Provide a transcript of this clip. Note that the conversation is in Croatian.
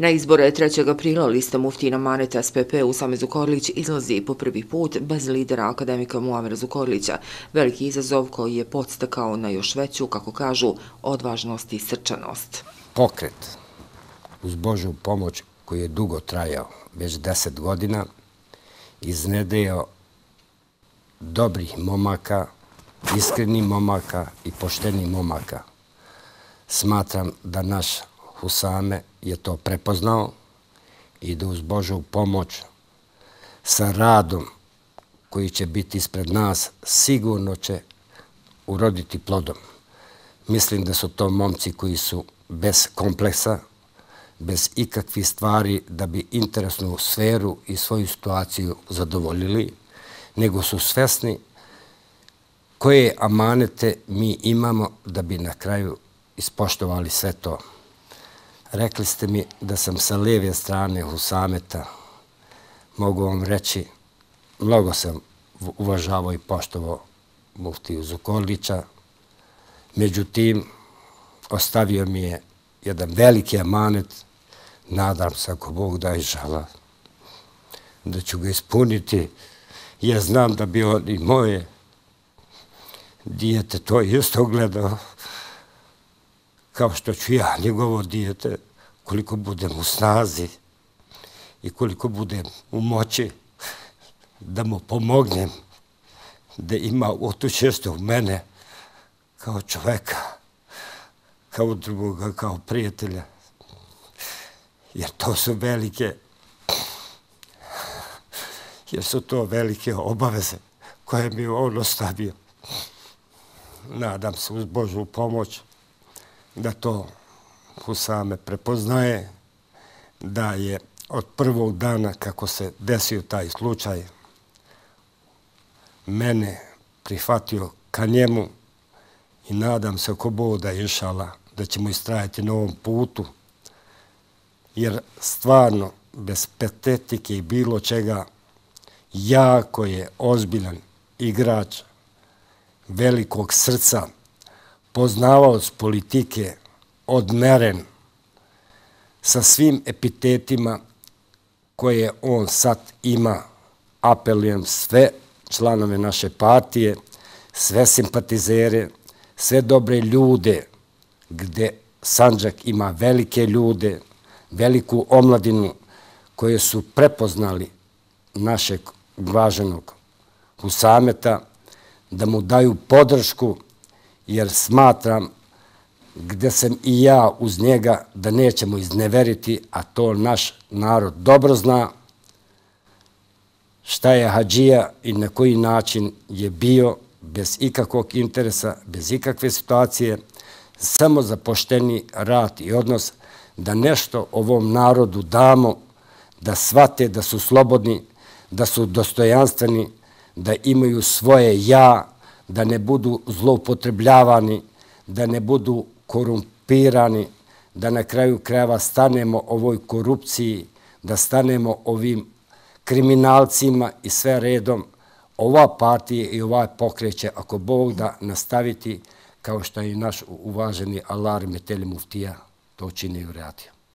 Na izbore 3. aprila lista Muftijin Amanet SPP Usame Zukorlić izlazi po prvi put bez lidera akademika Muamera Zukorlića, veliki izazov koji je podstakao na još veću, kako kažu, odvažnost i srčanost. Pokret uz Božju pomoć koji je dugo trajao, već 10 godina, iznedrio dobrih momaka, iskrenih momaka i poštenih momaka. Smatram da naš Usame je to prepoznao i da uz Božju pomoć sa radom koji će biti ispred nas sigurno će uroditi plodom. Mislim da su to momci koji su bez kompleksa, bez ikakvih stvari da bi interesnu sferu i svoju situaciju zadovoljili, nego su svesni koje amanete mi imamo da bi na kraju ispoštovali sve to. Rekli ste mi da sam sa lijeve strane Usameta. Mogu vam reći, mnogo sam uvažavao i poštovao muftiju Zukorlića. Međutim, ostavio mi je jedan veliki amanet. Nadam se, ako Bog da inšala, da ću ga ispuniti. Ja znam da bi on i moje dijete to isto gledao, kao što ću ja njegovo dijete, koliko budem u snazi i koliko budem u moći da mu pomognem, da ima utočište u mene kao čoveka, kao druga, kao prijatelja. Jer to su velike obaveze koje mi on ostavio. Nadam se uz Božju pomoć da to Usame prepoznaje, da je od prvog dana kako se desio taj slučaj mene prihvatio ka njemu i nadam se ako Bog da inšala da ćemo istrajati na ovom putu, jer stvarno bez patetike i bilo čega jako je ozbiljan igrač, velikog srca, poznavaoc politike, odmeren, sa svim epitetima koje on sad ima. Apelujem sve članove naše partije, sve simpatizere, sve dobre ljude, gde Sandžak ima velike ljude, veliku omladinu koje su prepoznali našeg važenog Usameta, da mu daju podršku, jer smatram, gde sam i ja uz njega, da nećemo izneveriti, a to naš narod dobro zna, šta je hadžija i na koji način je bio, bez ikakvog interesa, bez ikakve situacije, samo za pošteni rad i odnos, da nešto ovom narodu damo, da shvate da su slobodni, da su dostojanstveni, da imaju svoje ja, da ne budu zloupotrebljavani, da ne budu korumpirani, da na kraju krajeva stanemo ovoj korupciji, da stanemo ovim kriminalcima i sve redom. Ova partija i ovaj pokret će, ako Bog da, nastaviti kao što je i naš uvaženi Alar Metelj Muftija to čini i uradio.